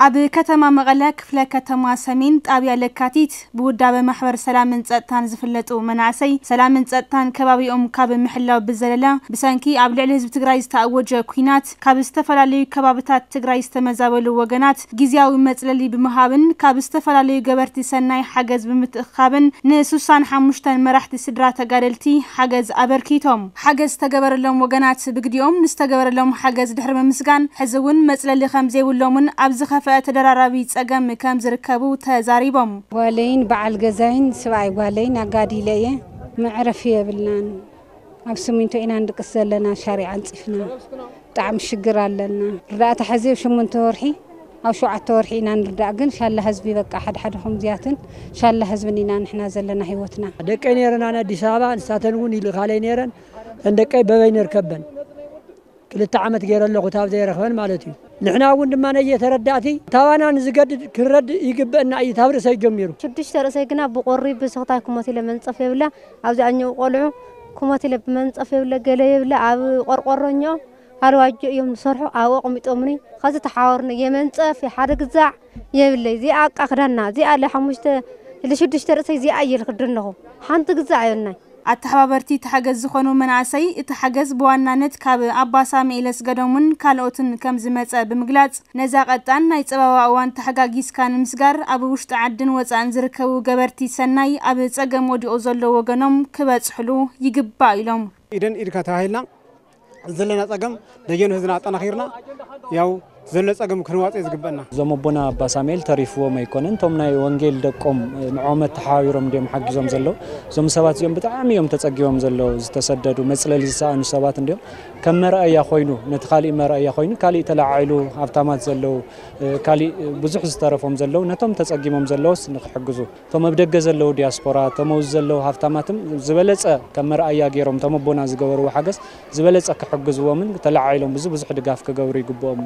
ኣብ ከተማ መቐለ ክፍለ ከተማ ሰሜን ጣብያ ለካቲት ብውዳበ ማሕበር ሰላምን ጸጥታን ዝፍለጡ መናእሰይ ሰላምን ጸጥታን ከባቢኦም ካብ ምሕላው ብዘለለ ብሰንኪ ኣብ ልዕሊ ህዝቢ ትግራይ ዝተኣወጀ ኲናት ካብ ዝተፈላለዩ ከባብታት ትግራይ ዝተመዛበሉ ወገናት ግዝያዊ መጽለሊ ብምሃብን ካብ ዝተፈላለዩ ገበርቲ ሰናይ ሓገዝ ብምትእኻብን ንስሳን ሓሙሽተን መራሕቲ ስድራ ተጋደልቲ ሓገዝ ኣበርኪቶም። ሓገዝ ዝተገበረሎም ወገናት ብግዲኦም ንዝተገበረሎም ሓገዝ ድሕሪ ምምስጋን ሕዚ እውን መጽለሊ ከም ዘይብሎምን ኣብ ዝኸፍአ ተደራራቢ ጸገም ከም ዝርከቡ ተዛሪቦም። ጓለይን በዓል ገዛይን ስብኣይ ጓለይን ኣጋዲለ እየ። መዕረፊ የብልናን። ኣብ ስሚንቶ ኢና ንድቅስ ዘለና፣ ሻሪዕ ኣንጺፍና። ብጣዕሚ ሽግር ኣለና። ርዳእታ ሕዚ ኣብ ሸሞንተ ወርሒ፣ ኣብ ሸውዓተ ወርሒ ኢና ንርዳእ። ግን ሻላ ህዝቢ በቃ ሓደ ሓደ ከምዚያትን ሻላ ህዝብን ኢና ንሕና ዘለና ህይወትና። ደቀይ ነይረን ኣነ ኣዲስ ኣበባ፣ ንሳተን እውን ይልኻለይ ነይረን። እተን ደቀይ በበይ ንርከበን። ክልተ ዓመት ገይረ ኣለኹ፣ ታብ ዘይረኽበን ማለት እዩ። ንሕና እውን ድማ ነየተረዳእቲ፣ ታባና ንዝገድድ ክንረድእ ይግበአና እዩ፣ ታብ ርእሰይ ጀሚሩ። ሽዱሽተ ርእሰይ ግና ብቆሪ ብስኽታይ ክሞት ኢለ መንጸፍ የብለ፣ ኣብዚ ኣኘው ቆልዑ ክሞት ኢለ ብመንጸፍ የብለ፣ ገለ የብለ፣ ኣብ ቆርቆሮኛው ኣልዋጆ እዮም ዝሰርሑ፣ ኣብኡ ኣቕሚጦምኒ። ኸዚ ተሓወርኒ፣ የመንጸፍ፣ የሓደ ግዛዕ የብለይ። እዚኣ ኣቃ ክዳና፣ እዚኣ ለሓሙሽተ፣ ለሽዱሽተ ርእሰይ እዚኣ እየ ልኽደን ኣለኹ። ሓንቲ ግዛዕ የብልናይ። ኣተሓባበርቲ እቲ ሓገዝ ዝኾኑ መናእሰይ፣ እቲ ሓገዝ ብዋናነት ካብ ኣባ ሳሙኤል ኣስገዶምን ካልኦትን ከም ዝመጸ ብምግላጽ፣ ነዛ ቀጣን ናይ ጸበባ እዋን ተሓጋጊዝካ ንምስጋር፣ ኣብ ውሽጢ ዓድን ወጻእን ዝርከቡ ገበርቲ ሰናይ ኣብ ጸገም ወዲቑ ዘሎ ወገኖም ክበጽሕሉ ይግባእ ኢሎም። ኢደን ኢድካ ተባሂልና ዘለና ጸገም ደጀን ህዝብና ኣጠናኺርና ያው ዘሎ ጸገም ክንዋጽእ ዝግበአና። እዞም ኣቦና ኣባ ሳሙኤል ተሪፍዎም ኣይኮነን፣ እቶም ናይ ወንጌል ደቆም ንዖም ተሓባቢሮም እንዲዮም ሓጊዞም ዘለዉ። እዞም ሰባት እዚኦም ብጣዕሚ እዮም ተጸጊቦም ዘለዉ፣ ዝተሰደዱ፣ መጽለሊ ዝሰኣኑ ሰባት እንዲዮም። ከም መርኣያ ኮይኑ፣ ነቲ ካሊእ መርኣያ ኮይኑ፣ ካሊእ ተለዓዒሉ ሃብታማት ዘለዉ፣ ካሊእ ብዙሕ ዝተረፎም ዘለዉ፣ ነቶም ተጸጊሞም ዘለዉስ ንክሕግዙ። እቶም ኣብ ደገ ዘለዉ ዲያስፖራ፣ እቶም ኣብዚ ዘለዉ ሃፍታማትም ዝበለጸ ከም መርኣያ ገይሮም እቶም ኣቦና ዝገበርዎ ሓገዝ ዝበለጸ ክሕግዝዎምን ተለዓዒሎም ብዙ ብዙሕ ድጋፍ ክገብሩ ይግብኦም።